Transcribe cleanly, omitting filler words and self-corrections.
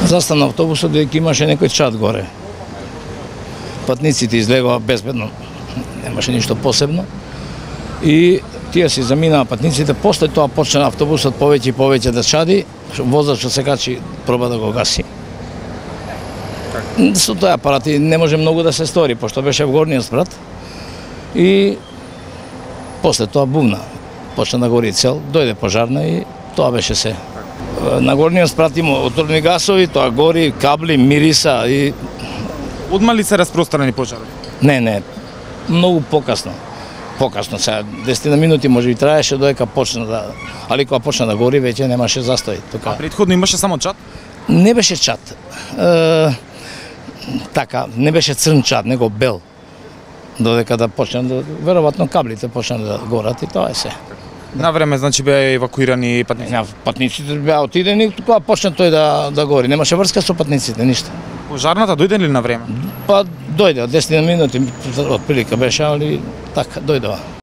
Застана автобусот дека имаше некој чат горе. Патниците излегоа безбедно, немаше ништо посебно. И тие си заминаа патниците, после тоа почна автобусот повеќе и повеќе да чади, возачот се качи, проба да го гаси. Со тој апарат не може многу да се стори, пошто беше во горниот спрат. И после тоа бумна, почна да гори цел, дојде пожарна и тоа беше се. На горниот спрат има отворени гасови, тоа гори, кабли, мириса и... Одма ли се распространени пожари? Не, многу покасно. Покасно, сега 10 минути може би траеше додека почна да... Али кога почна да гори, веќе немаше застој. А претходно имаше само чат? Не беше чат. Така, не беше црн чат, него бел. Додека да почна да... Веројатно каблите почна да горат и тоа е се. На време, значи, беа евакуирани патниците? Патниците беа отидени, кога почна тој да гори. Немаше врска со патниците, ништо. Пожарната дојде ли на време? Па дојде, 10 минути, од прилика беше, али така, дојдува.